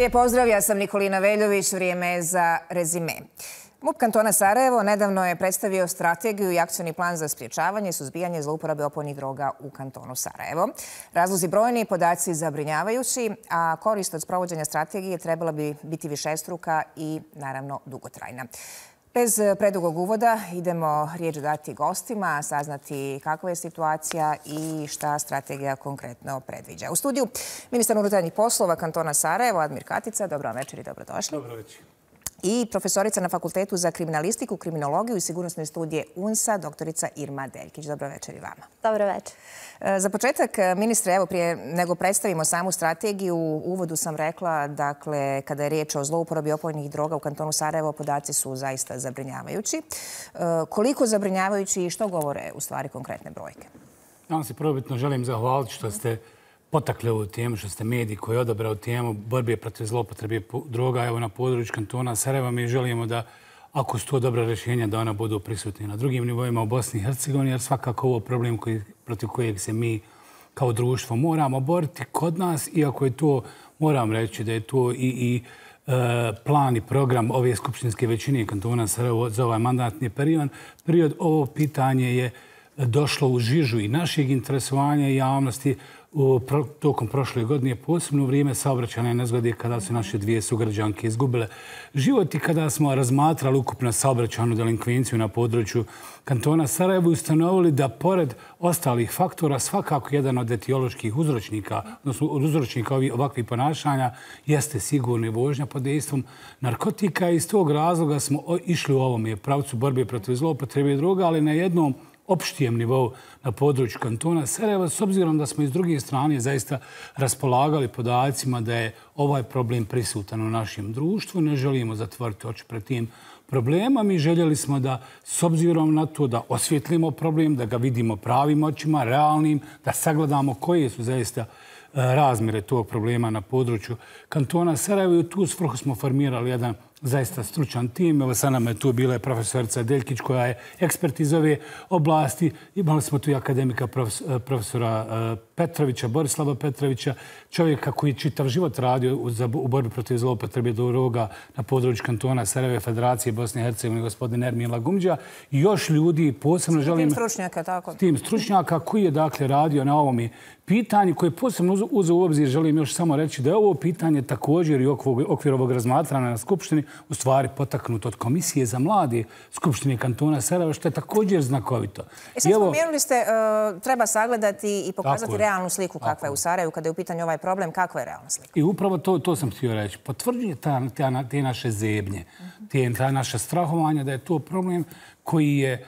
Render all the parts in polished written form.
Lijep pozdrav, ja sam Nikolina Veljović, vrijeme je za rezime. MUP kantona Sarajevo nedavno je predstavio strategiju i akcioni plan za sprječavanje i suzbijanje zlouporabe opojnih droga u kantonu Sarajevo. Razlozi brojni, podaci zabrinjavajući, a korist od sprovođenja strategije trebala bi biti višestruka i, naravno, dugotrajna. Bez predugog uvoda idemo riječ dati gostima, saznati kakva je situacija i šta strategija konkretno predviđa. U studiju ministar unutarnjih poslova kantona Sarajevo, Admir Katica. Dobro večer i dobrodošli. Dobro večer. I profesorica na Fakultetu za kriminalistiku, kriminologiju i sigurnosne studije UNS-a, doktorica Irma Deljkić. Dobro večer i vama. Dobro večer. Za početak, ministre, evo prije nego predstavimo samu strategiju, u uvodu sam rekla, dakle, kada je riječ o zlouporabi opojnih droga u kantonu Sarajevo, podaci su zaista zabrinjavajući. Koliko zabrinjavajući i što govore u stvari konkretne brojke? Ja vam se prvobitno želim zahvaliti što ste potakli ovu temu, što ste mediji koji je odabrao temu borbe protiv zloupotrebe droga evo na području kantona Sarajeva. Mi želimo da, ako su to dobra rješenja, da ona budu prisutni na drugim nivoima u Bosni i Hercegovini, jer svakako ovo problem protiv kojeg se mi kao društvo moramo boriti kod nas, iako je to, moram reći da je to i plan i program ove skupštinske većine kantona Sarajevo za ovaj mandatni period. Ovo pitanje je došlo u žižu i našeg interesovanja i javnosti tokom prošle godine, posebno u vrijeme saobraćajne nezgode kada su naše dvije sugrađanke izgubile život i kada smo razmatrali ukupno saobraćajnu delinkvenciju na području kantona Sarajevo i ustanovili da pored ostalih faktora svakako jedan od etioloških uzročnika, odnosno od uzročnika ovakvih ponašanja jeste sigurna vožnja pod dejstvom narkotika i iz tog razloga smo išli u ovom pravcu borbe protiv zloupotrebe droga, ali na jednom opštijem nivou na području kantona Sarajeva, s obzirom da smo iz druge strane zaista raspolagali podacima da je ovaj problem prisutan u našem društvu. Ne želimo zatvoriti oči pred tim problema. Mi željeli smo da, s obzirom na to, da osvjetlimo problem, da ga vidimo pravim očima, realnim, da sagledamo koje su zaista razmjere tog problema na području kantona Sarajevo i u tu svrhu smo formirali jedan zaista stručan tim. Evo sa nama je tu bila profesorica Deljkić koja je ekspert iz ove oblasti. Imali smo tu i akademika profesora Petrovića, Borislava Petrovića, čovjeka koji čitav život radio u borbi protiv zloupotrebe droga na području kantona Sarajeva, Federacije Bosne i Hercegovine, gospodin Ermin Lagumđa i još ljudi, posebno želim... Tim stručnjaka, tako? Tim stručnjaka koji je dakle radio na ovom pitanju koje posebno uzeo u obzir, želim još samo reći da je ovo pitanje također i u okviru ovog razmatranja na Skupštini u stvari potaknuto od Komisije za mlade Skupštine kantona Sarajeva, što je također znakovito. Sad spomenuli ste, treba sagledati i pokazati realnu sliku kakva je u Sarajevu, kada je u pitanju ovaj problem, kakva je realna slika? I upravo to sam htio reći. Potvrđuje te naše zebnje, ta naša strahovanja da je to problem koji je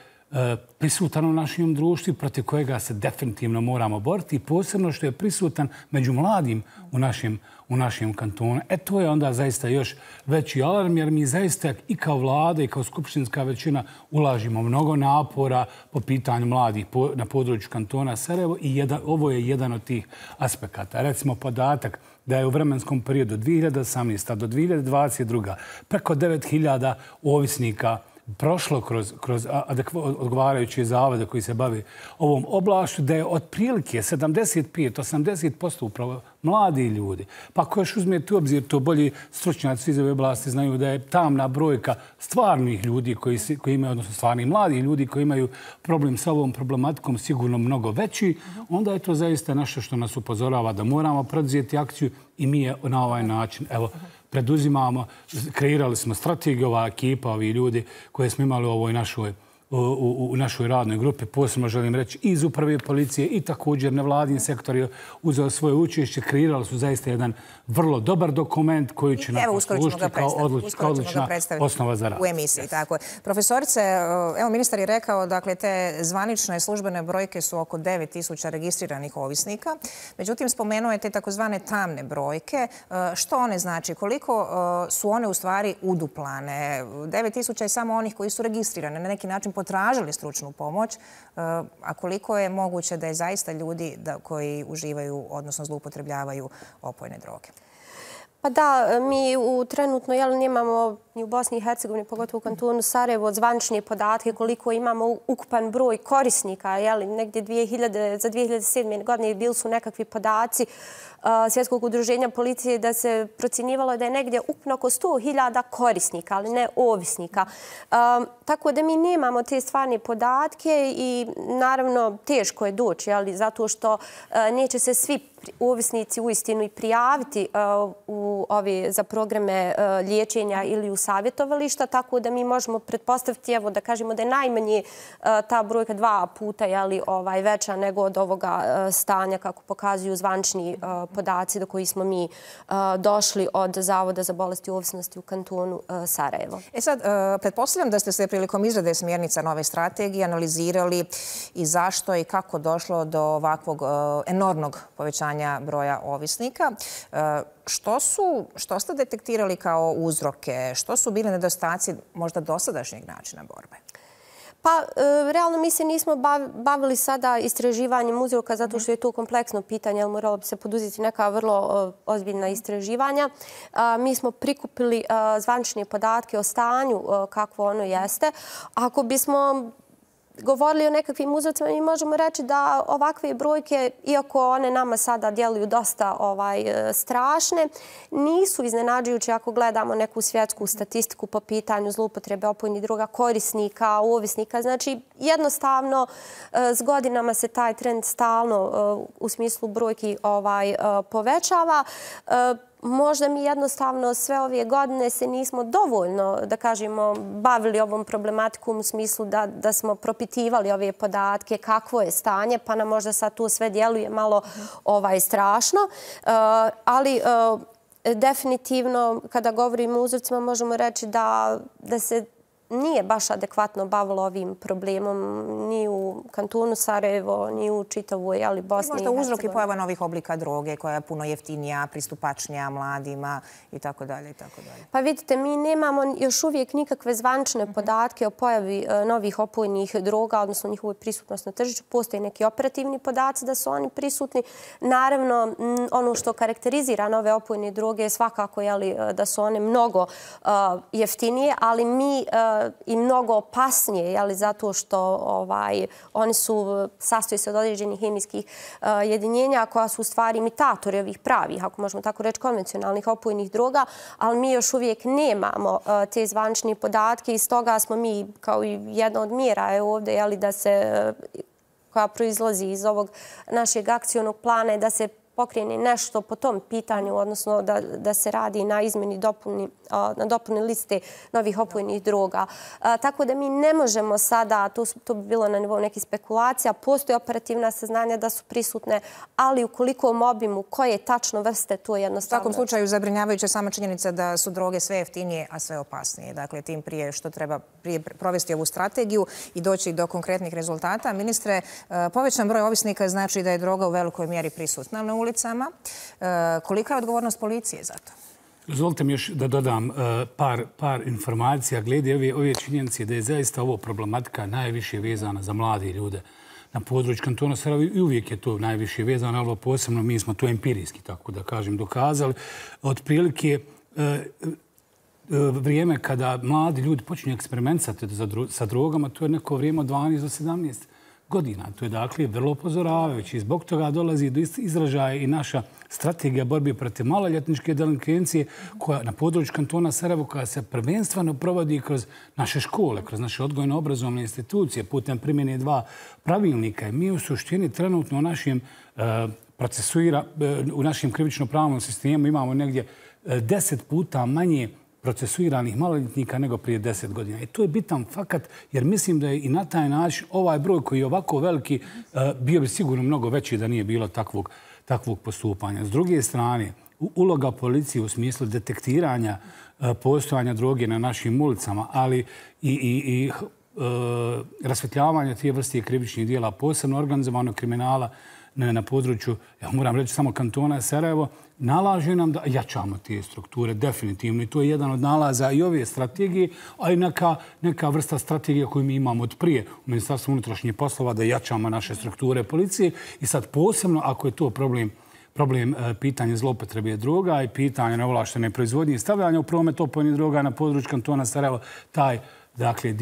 prisutan u našem društvu, protiv kojega se definitivno moramo boriti i posebno što je prisutan među mladim u našem kantonu. To je onda zaista još veći alarm, jer mi zaista i kao vlada i kao skupštinska većina ulažimo mnogo napora po pitanju mladih na području kantona Sarajevo i ovo je jedan od tih aspekata. Recimo podatak da je u vremenskom periodu 2018. do 2022. preko 9000 ovisnika prošlo kroz odgovarajuće zavode koji se bavi ovom oblašću, da je otprilike 75-80% upravo mladi ljudi. Pa ako još uzmete u obzir, to bolji stručnjaci iz ove oblasti znaju da je tamna brojka stvarnih ljudi koji imaju, odnosno stvarnih mladih ljudi koji imaju problem sa ovom problematikom sigurno mnogo veći, onda je to zaista nešto što nas upozorava da moramo preduzeti akciju i mi je na ovaj način, evo, preduzimamo, kreirali smo strategiju, ova ekipa, ovi ljudi koje smo imali u ovoj našoj radnoj grupi, posebno želim reći iz uprave policije i također nevladin sektor je uzeo svoje učešće, kreirali su zaista jedan vrlo dobar dokument koji će nam poslužiti kao odlična osnova za rad. U emisiji, tako je. Profesorice, evo ministar je rekao, dakle, te zvanične službene brojke su oko 9000 registriranih ovisnika. Međutim, spomenuo je te takozvane tamne brojke. Što one znači? Koliko su one u stvari uduplane? 9000 je samo onih koji su registrirane, na neki način potražili stručnu pomoć, a koliko je moguće da je zaista ljudi koji uživaju, odnosno zloupotrebljavaju opojne droge? Pa da, mi trenutno nemamo ni u Bosni i Hercegovini, pogotovo u kantonu Sarajevo, zvanične podatke koliko imamo ukupan broj korisnika. Negdje za 2007. godine bili su nekakvi podaci Svjetskog udruženja policije da se procjenjivalo da je negdje ukupno oko 100.000 korisnika, ali ne ovisnika. Tako da mi nemamo te stvarne podatke i naravno teško je doći, zato što neće se svi ovisnici uistinu i prijaviti za programe liječenja ili u savjetovališta, tako da mi možemo pretpostaviti, da kažemo da je najmanje ta brojka 2 puta veća nego od ovoga stanja kako pokazuju zvanični podaci do koji smo mi došli od Zavoda za bolesti i ovisnosti u kantonu Sarajevo. Sad, pretpostavljam da ste se prilikom izrade smjernica nove strategije analizirali i zašto i kako došlo do ovakvog enormnog povećanja broja ovisnika. Što ste detektirali kao uzroke? Što su bili nedostaci možda dosadašnjeg načina borbe? Pa, realno mi se nismo bavili sada istraživanjem uzroka zato što je to kompleksno pitanje, ali moralo bi se poduzeti neka vrlo ozbiljna istraživanja. Mi smo prikupili zvanične podatke o stanju kakvo ono jeste. Ako bismo govorili o nekakvim uzrocima, mi možemo reći da ovakve brojke, iako one nama sada djeluju dosta strašne, nisu iznenađujuće ako gledamo neku svjetsku statistiku po pitanju zloupotrebe opojnih droga, korisnika, ovisnika. Znači, jednostavno, s godinama se taj trend stalno u smislu brojki povećava. Možda mi jednostavno sve ove godine se nismo dovoljno, da kažemo, bavili ovom problematikom u smislu da smo propitivali ove podatke, kakvo je stanje, pa nam možda sad tu sve djeluje malo strašno. Ali definitivno, kada govorimo o uzrocima, možemo reći da se nije baš adekvatno bavilo ovim problemom ni u kantonu Sarajevo, ni u čitavoj Bosni i Hercegovini. Možda uzrok i pojava novih oblika droge koja je puno jeftinija, pristupačnija mladima itd. Pa vidite, mi nemamo još uvijek nikakve zvanične podatke o pojavi novih opojnih droga, odnosno njihovoj prisutnosti na tržištu. Postoje neki operativni podaci da su oni prisutni. Naravno, ono što karakterizira nove opojne droge je svakako da su one mnogo jeftinije, ali mi i mnogo opasnije, zato što oni sastoji se od određenih hemijskih jedinjenja koja su u stvari imitatori ovih pravih, ako možemo tako reći, konvencionalnih opojnih droga, ali mi još uvijek nemamo te zvanične podatke i stoga smo mi, kao i jedna od mjera ovdje, koja proizlazi iz ovog našeg akcionog plana je da se pokrene nešto po tom pitanju, odnosno da se radi na izmjeni dopuni liste novih opojnih droga. Tako da mi ne možemo sada, to bi bilo na nivou nekih spekulacija, postoje operativna saznanja da su prisutne, ali u kolikom obimu, koje tačno vrste, to je jednostavno. U svakom slučaju zabrinjavajuća sama činjenica da su droge sve jeftinije, a sve opasnije. Dakle, tim prije što treba provesti ovu strategiju i doći do konkretnih rezultata. Ministre, povećan broj ovisnika znači da je droga u velikoj mjeri prisutna na ulicama. Kolika je odgovornost policije za to? Dozvolite mi još da dodam par informacija glede ove činjenice da je zaista ovo problematika najviše vezana za mlade ljude na području kantona Sarajevo i uvijek je to najviše vezano, ali posebno mi smo to empirijski, tako da kažem, dokazali. Otprilike vrijeme kada mladi ljudi počinju eksperimentisati sa drogama, to je neko vrijeme od 12 do 17 godina. To je dakle vrlo upozoravajuće i zbog toga dolazi do izražaja i naša strategija borbe protiv maloljetničke delinkvencije koja na području kantona Sarajevo koja se prvenstveno provodi kroz naše škole, kroz naše odgojno-obrazovne institucije putem primjene 2 pravilnika. I mi u suštini trenutno u našem krivično-pravnom sistemu imamo negdje 10 puta manje procesuiranih maloljetnika nego prije 10 godina. I to je bitan fakat jer mislim da je i na taj način ovaj broj koji je ovako veliki bio bi sigurno mnogo veći da nije bilo takvog postupanja. S druge strane, uloga policije u smislu detektiranja postojanja droge na našim ulicama, ali i rasvjetljavanja tije vrste krivičnih dijela, posebno organizovanog kriminala na području, ja moram reći samo kantona Sarajevo, nalaže nam da jačamo te strukture definitivno i to je jedan od nalaza i ove strategije, a i neka vrsta strategije koju mi imamo od prije u Ministarstvu unutrašnjih poslova da jačamo naše strukture policije i sad posebno ako je to problem pitanja zloupotrebe droga i pitanja neovlaštene proizvodnje i stavljanja u promet opojnih droga na području kantona Sarajevo. Dakle,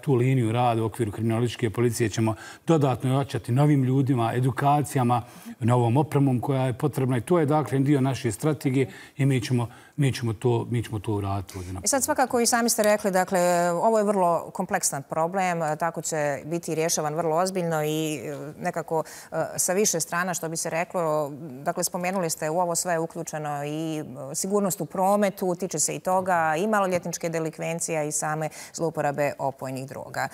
tu liniju rada u okviru kriminalističke policije ćemo dodatno ojačati novim ljudima, edukacijama, novom opremom koja je potrebna. I to je, dakle, dio naše strategije i mi ćemo to uraditi. I sad svakako i sami ste rekli, dakle, ovo je vrlo kompleksan problem, tako će biti rješavan vrlo ozbiljno i nekako sa više strana, što bi se reklo. Dakle, spomenuli ste u ovo sve uključeno i sigurnost u prometu, tiče se i toga, i maloljetničke delikvencija i same zlouporabe opojnih droga.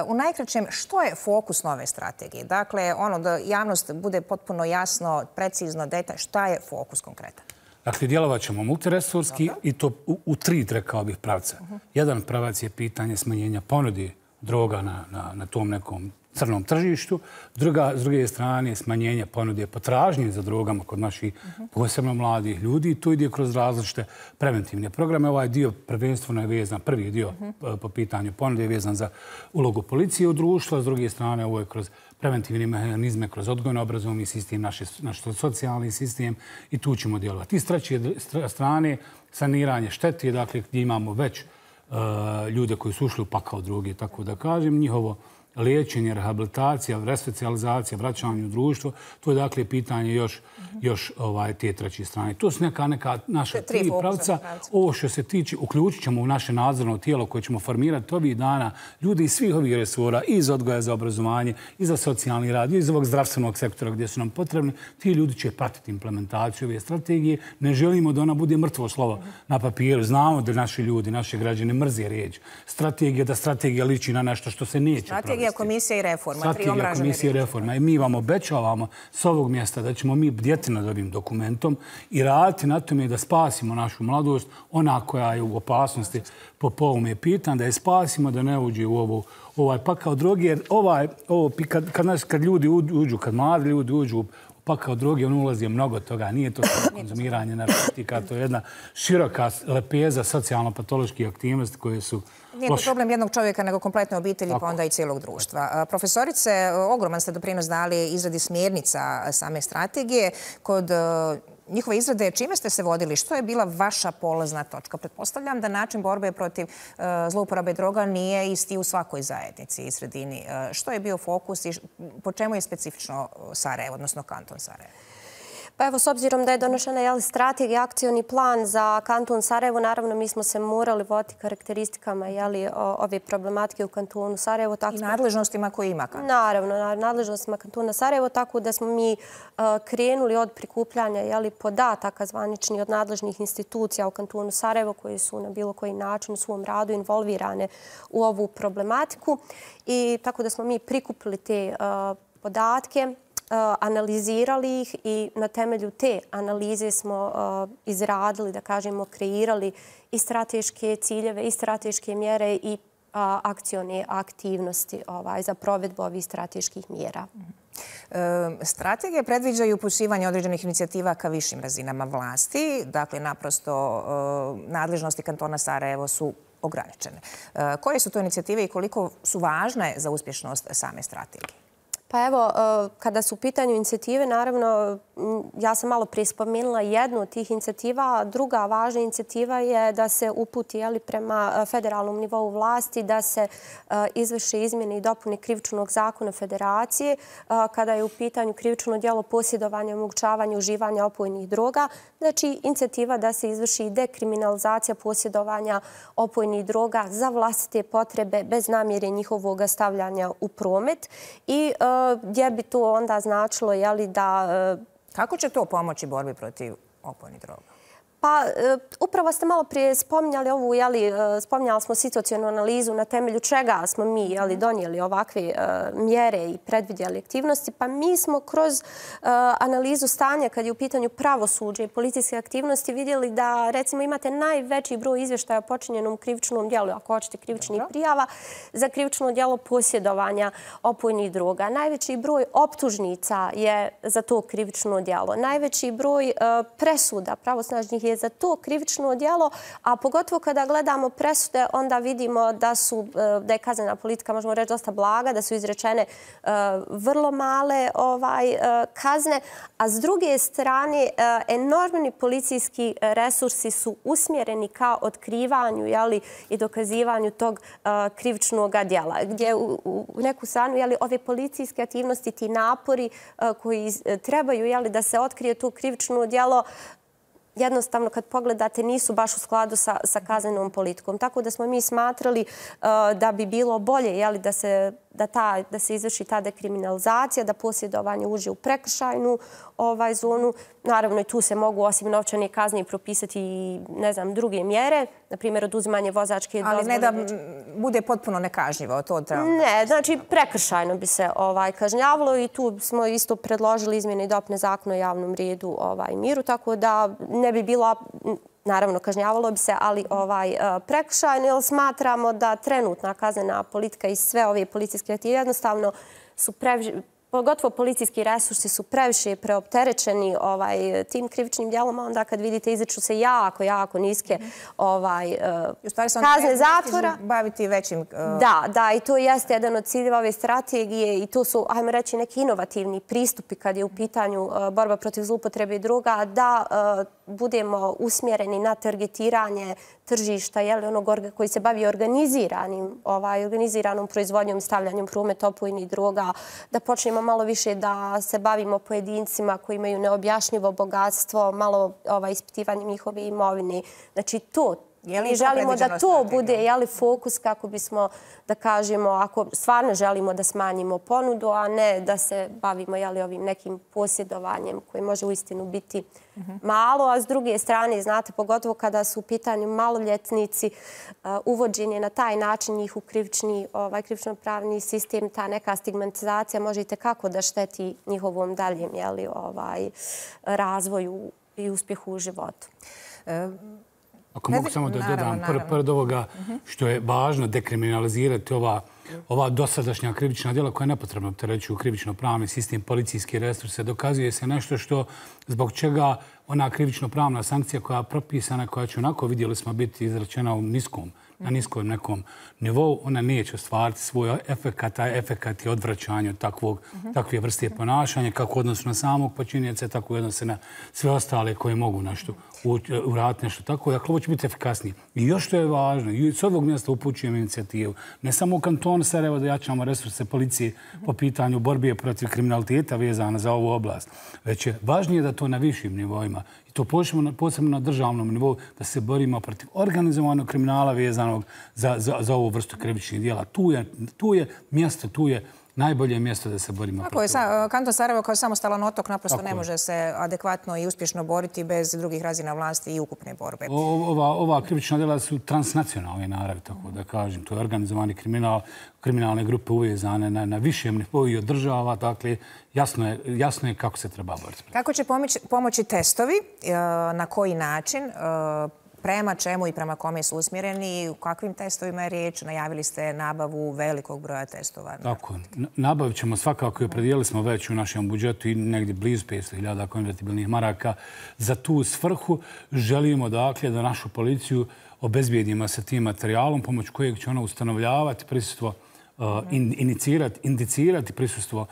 U najkraćem, što je fokus nove strategije? Dakle, da javnost bude potpuno jasno, precizno, detalj, šta je fokus konkretan? Dakle, djelovat ćemo multiresurski i to u 3, rekao bih, pravca. Jedan pravac je pitanje smanjenja ponude droga na tom nekom crnom tržištu. S druge strane, smanjenje ponude potražnje za drogama kod naših posebno mladih ljudi. To ide kroz različite preventivne programe. Ovaj dio prvenstveno je vezan, prvi dio po pitanju ponude je vezan za ulogu policije u društvu, a s druge strane ovo je kroz preventivne mehanizme, kroz odgojno-obrazovni sistem, naš socijalni sistem i tu ćemo djelovati. I s treće strane, saniranje štete, dakle, gdje imamo već ljude koji su ušli u pakao droge, tako da kažem, njihovo liječenje, rehabilitacija, resocijalizacija, vraćanje u društvo, to je dakle pitanje još te treće strane. To su neka naša 3 pravca. Ovo što se tiče, uključit ćemo u naše nadzorno tijelo koje ćemo formirati ovih dana ljudi iz svih ovih resora, iz odgoja za obrazovanje, i za socijalni rad, i iz ovog zdravstvenog sektora gdje su nam potrebni. Ti ljudi će pratiti implementaciju ove strategije. Ne želimo da ona bude mrtvo slovo na papiru. Znamo da naši ljudi, naši građani mrze riječ. Da strategija liči na nešto što se neće provesti. Komisija i reforma. Strategija, komisija i reforma. I mi vam obećavamo s ovog mjesta da ćemo mi bdjeti nad ovim dokumentom i raditi na tome da spasimo našu mladost, ona koja je u opasnosti po ovome pitanju, da je spasimo da ne uđe u ovaj pakao droge. Jer kad ljudi uđu, kad mladi ljudi uđu u pakao droge, on ulazi mnogo toga. Nije to konzumiranje narkotika, to je jedna široka lepeza socijalno-patoloških aktivnosti koje su Nije to problem jednog čovjeka, nego kompletne obitelji, pa onda i cijelog društva. Profesorice, ogroman ste doprinos dali izradi smjernica same strategije. Kod njihove izrade, čime ste se vodili? Što je bila vaša polazna točka? Pretpostavljam da način borbe protiv zlouporabe droga nije isti u svakoj zajednici i sredini. Što je bio fokus i po čemu je specifično Sarajevo, odnosno kanton Sarajevo? Pa evo, s obzirom da je donošena strategija, akcioni plan za kanton Sarajevo, naravno mi smo se morali voditi karakteristikama ove problematike u kantonu Sarajevo. I nadležnostima koje ima kanton. Naravno, nadležnostima kantona Sarajevo, tako da smo mi krenuli od prikupljanja podataka zvaničnih od nadležnih institucija u kantonu Sarajevo koji su na bilo koji način u svom radu involvirane u ovu problematiku. I tako da smo mi prikupili te podatke, analizirali ih i na temelju te analize smo izradili, da kažemo, kreirali i strateške ciljeve i strateške mjere i akcione aktivnosti za provedbu ovih strateških mjera. Strategije predviđaju upućivanje određenih inicijativa ka višim razinama vlasti. Dakle, naprosto nadležnosti kantona Sarajevo su ograničene. Koje su to inicijative i koliko su važne za uspješnost same strategije? Pa evo, kada su u pitanju inicijative, naravno, ja sam malo prije spomenula jednu od tih inicijativa. Druga važna inicijativa je da se uputi prema federalnom nivou vlasti, da se izvrše izmjene i dopune krivičnog zakona federacije, kada je u pitanju krivično djelo posjedovanja i omogućavanja uživanja opojnih droga. Znači, inicijativa da se izvrši dekriminalizacija posjedovanja opojnih droga za vlastite potrebe bez namjere njihovog stavljanja u promet. I gdje bi to onda značilo da... Kako će to pomoći borbi protiv opojnih droga? Pa, upravo ste malo prije spominjali ovu, spominjali smo situacionu analizu na temelju čega smo mi donijeli ovakve mjere i predvidjeli aktivnosti. Pa mi smo kroz analizu stanja kad je u pitanju pravosuđe i policijske aktivnosti vidjeli da, recimo, imate najveći broj izvještaja o počinjenom krivičnom djelu, ako hoćete krivičnih prijava, za krivično djelo posjedovanja opojnih droga. Najveći broj optužnica je za to krivično djelo. Najveći broj presuda pravosnažnih je za to krivično djelo, a pogotovo kada gledamo presude, onda vidimo da je kaznena politika, možemo reći, dosta blaga, da su izrečene vrlo male kazne, a s druge strane enormni policijski resursi su usmjereni ka otkrivanju i dokazivanju tog krivičnog djela, gdje u neku stranu ove policijske aktivnosti, ti napori koji trebaju da se otkrije to krivično djelo, jednostavno kad pogledate nisu baš u skladu sa kaznenom politikom. Tako da smo mi smatrali da bi bilo bolje da se izvrši ta dekriminalizacija, da posjedovanje uđe u prekršajnu zonu. Naravno i tu se mogu osim novčane kazne propisati i druge mjere, na primjer oduzimanje vozačke dozvole. Ali ne da bude potpuno nekažnjivo. Ne, znači prekršajno bi se kažnjavalo i tu smo isto predložili izmjene i dopune zakona o javnom redu i miru, tako da ne bi bilo, naravno kažnjavalo bi se, ali prekršajno, jer smatramo da trenutna kaznena politika i sve ove policijske aktive jednostavno su pogotovo policijski resursi su previše preopterećeni tim krivičnim djelom, onda kad vidite izriču se jako niske kazne zatvora. Baviti većim... Da, i to jeste jedan od ciljeva ove strategije i to su, ajmo reći, neki inovativni pristupi kad je u pitanju borba protiv zloupotrebe droga, da budemo usmjereni na targetiranje tržišta, onog koji se bavi organiziranom proizvodnjom i stavljanjem u promet opojnih droga, da počnemo malo više da se bavimo pojedincima koji imaju neobjašnjivo bogatstvo, malo ispitivanjem njihove imovine. Znači to. Mi želimo da to bude fokus kako bismo, da kažemo, ako stvarno želimo da smanjimo ponudu, a ne da se bavimo ovim nekim posjedovanjem koji može uistinu biti malo, a s druge strane, znate, pogotovo kada su u pitanju maloljetnici, uvođenje na taj način njih u krivično-pravni sistem, ta neka stigmatizacija može i tekako da šteti njihovom daljem razvoju i uspjehu u životu. Ako mogu samo da dodam, pored ovoga što je važno dekriminalizirati ova dosadašnja krivična djela koja je nepotrebno opterećuju krivično-pravni sistem, policijske resurse, dokazuje se nešto što zbog čega ona krivično-pravna sankcija koja je propisana, koja će onako, vidjeli smo, biti izrečena na niskom nekom nivou, ona neće ostvariti svoj efekat, a efekat je odvraćanje od takve vrste ponašanja, kako odnosno na samog počinjeca, tako i odnosno na sve ostale koje mogu nešto uraditi nešto tako. Dakle, ovo će biti efikasnije. I još što je važno, i s ovog mjesta upućujem inicijativu, ne samo u kantonu Sarajevo da jačamo resurse policije po pitanju borbe protiv kriminaliteta vezana za ovu oblast, već je važnije da to na višim nivoima, i to posebno na državnom nivou, da se borimo protiv organizovanog kriminala vezanog za ovu vrstu krivičnih djela. Tu je mjesto, tu je najbolje mjesto da se borimo protiv. Kanton Sarajevo kao samostalan otok naprosto ne može se adekvatno i uspješno boriti bez drugih razina vlasti i ukupne borbe. Ova krivična djela su transnacionalne naravi, tako da kažem. To je organizovani kriminal, kriminalne grupe uvezane na višem nivou i od država. Dakle, jasno je kako se treba boriti. Kako će pomoći testovi? Na koji način? Prema čemu i prema kome su usmjereni, u kakvim testovima je riječ? Najavili ste nabavu velikog broja testova. Tako, nabavit ćemo svakako i opredijelili smo već u našem budžetu i negdje blizu 500.000 konvertibilnih maraka. Za tu svrhu želimo dakle da našu policiju obezbijedimo sa tim materijalom pomoć kojeg će ona ustanovljavati prisustvo, indicirati prisustvo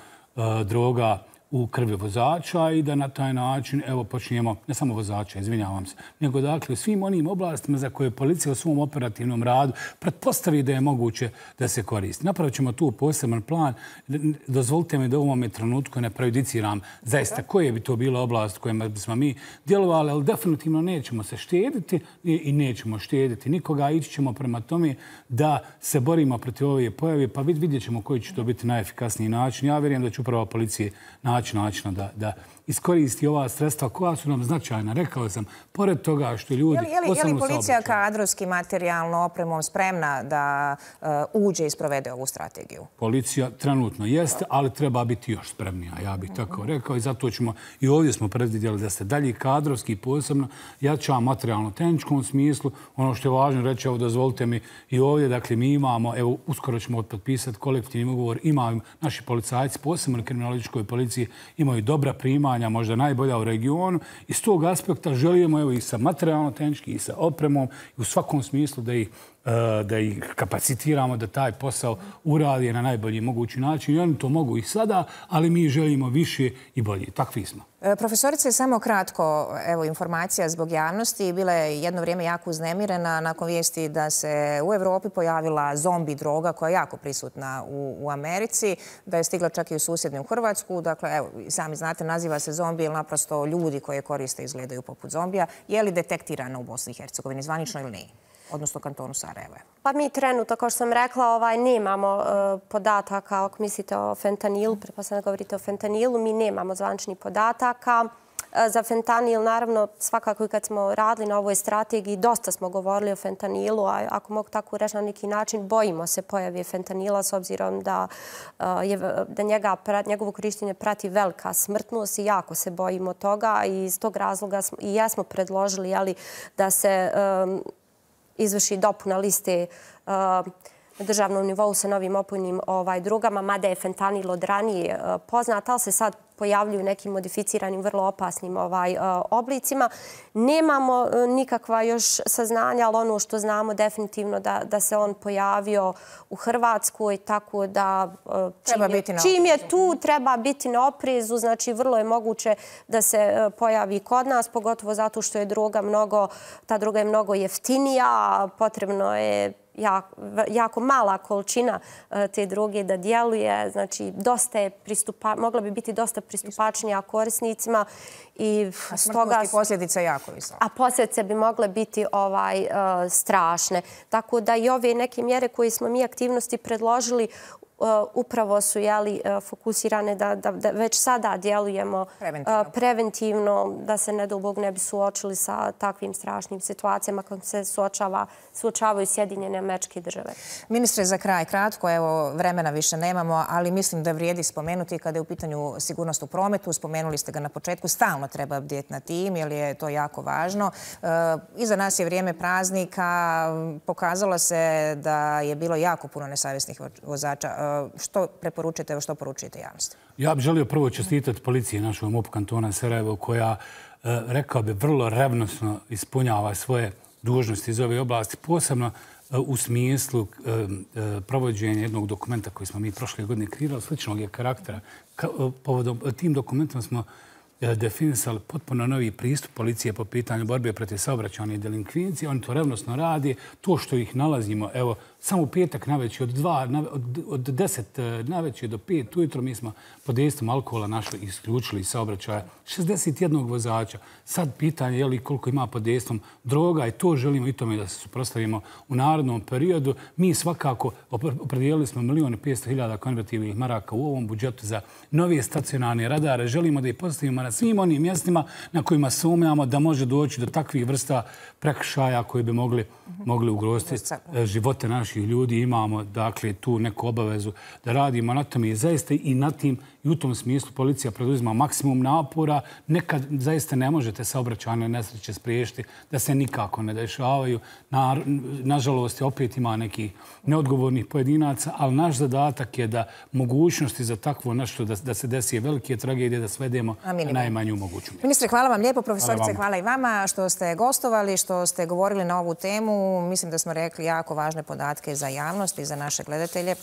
droga u krvi vozača i da na taj način počnijemo, ne samo vozača, izvinjavam se, nego dakle u svim onim oblastima za koje policija u svom operativnom radu pretpostavi da je moguće da se koristi. Napravit ćemo tu poseban plan. Dozvolite mi da u ovome trenutku ne prejudiciram zaista koje bi to bila oblast kojima bismo mi djelovali, ali definitivno nećemo se štediti i nećemo štediti nikoga. Ići ćemo prema tome da se borimo protiv ove pojave, pa vidjet ćemo koji će to biti najefikasniji način. Ja vjerujem da će upravo policije načina da iskoristi ova sredstva koja su nam značajna. Rekao sam, pored toga što ljudi... Je li policija kadrovski, materijalno, opremom spremna da uđe i sprovede ovu strategiju? Policija trenutno jeste, ali treba biti još spremnija, ja bih tako rekao. I zato ćemo, i ovdje smo predvidjeli da se dalje kadrovski posebno jača materijalno-tehničkom smislu. Ono što je važno reći, evo dozvolite mi i ovdje, dakle mi imamo, evo uskoro ćemo potpisati kolektivni ugovor, imaju naši policajci, posebno u kriminalističkoj policiji, imaju dobra primanja, zanimanja možda najbolja u regionu. Iz tog aspekta želimo i sa materijalno-tehnički i sa opremom i u svakom smislu da ih kapacitiramo da taj posao uradi na najbolji mogući način. I oni to mogu i sada, ali mi želimo više i bolje. Takvi smo. Profesorice, samo kratko, evo, informacija zbog javnosti. Bila je jedno vrijeme jako uznemirena nakon vijesti da se u Evropi pojavila zombi droga koja je jako prisutna u Americi, da je stigla čak i u susjednu Hrvatsku. Dakle, evo, sami znate, naziva se zombi, jer naprosto ljudi koje koriste izgledaju poput zombija. Je li detektirana u Bosni i Hercegovini, zvanično ili nije? Odnosno kantonu Sarajevo? Pa mi trenutno, kao što sam rekla, nemamo podataka, ako mislite o fentanilu, pretpostavljam da govorite o fentanilu, mi nemamo zvaničnih podataka. Za fentanil, naravno, svakako i kad smo radili na ovoj strategiji, dosta smo govorili o fentanilu, a ako mogu tako reći na neki način, bojimo se pojave fentanila s obzirom da njegovo korištenje prati velika smrtnost i jako se bojimo toga i iz tog razloga i jesmo predložili da se izvrši dopuna liste na državnom nivou sa novim opojnim drogama, mada je fentanil od ranije poznat, ali se sad pojavljuju nekim modificiranim, vrlo opasnim oblicima. Nemamo nikakva još saznanja, ali ono što znamo definitivno da se on pojavio u Hrvatskoj, tako da čim je tu treba biti na oprezu, znači vrlo je moguće da se pojavi kod nas, pogotovo zato što je ta droga je mnogo jeftinija, potrebno je jako mala količina te droge da djeluje. Znači, mogla bi biti dosta pristupačnija korisnicima. A smrtnost i posljedice jako visoke. A posljedice bi mogle biti strašne. Tako da i ove neke mjere koje smo mi aktivnosti predložili upravo su fokusirane da već sada djelujemo preventivno, da se nedobog ne bi suočili sa takvim strašnim situacijama kako se suočavaju Sjedinjene Američke Države. Ministre, za kraj kratko, evo vremena više nemamo, ali mislim da vrijedi spomenuti kada je u pitanju sigurnost u prometu. Spomenuli ste ga na početku, stalno treba bdjeti na tim jer je to jako važno. Iza nas je vrijeme praznika, pokazalo se da je bilo jako puno nesavjesnih vozača. Što preporučujete, što poručujete javnosti? Ja bih želio prvo čestitati policiji našoj MUP kantona Sarajevo koja, rekao bi, vrlo revnosno ispunjava svoje dužnosti iz ove oblasti, posebno u smislu provođenja jednog dokumenta koji smo mi prošle godine kreirali, sličnog je karaktera. Povodom tim dokumentom smo definisali potpuno novi pristup policije po pitanju borbe protiv saobraćajne delinkvencije. Oni to revnosno radi. To što ih nalazimo, evo, samo u petak navečer od 10 navečer do 5 ujutro mi smo pod dejstvom alkohola našli i isključili saobraćaja 61 vozača. Sad pitanje je li koliko ima pod dejstvom droga i to želimo i tome da se suprotstavimo u narednom periodu. Mi svakako opredijelili smo 1.500.000 konvertibilnih maraka u ovom budžetu za nove stacionarne radare. Želimo da ih postavimo na svim onim mjestima na kojima sumnjamo da može doći do takvih vrsta prekršaja koji bi mogli ugroziti živote naših ljudi. Imamo, dakle, tu neku obavezu da radimo na tome i zaista i na tim i u tom smislu policija preduzima maksimum napora. Nekad zaista ne možete saobraćajne nesreće spriječiti da se nikako ne dešavaju. Nažalost, opet ima nekih neodgovornih pojedinaca, ali naš zadatak je da mogućnosti za takvo nešto da se desi velike tragedije da svedemo na najmanju moguću mjeru. Ministre, hvala vam lijepo. Profesorice, hvala i vama što ste gostovali, što ste govorili na ovu temu. Mislim da smo rekli jako važne podatke za javnost i za naše gledatelje.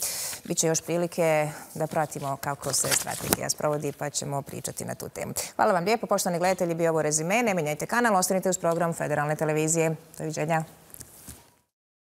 Biće još prilike da pratimo kako se strategija sprovodi, pa ćemo pričati na tu temu. Hvala vam lijepo, poštovani gledatelji, bio ovo Rezime. Ne mijenjajte kanal, ostanite uz program Federalne televizije. Doviđenja.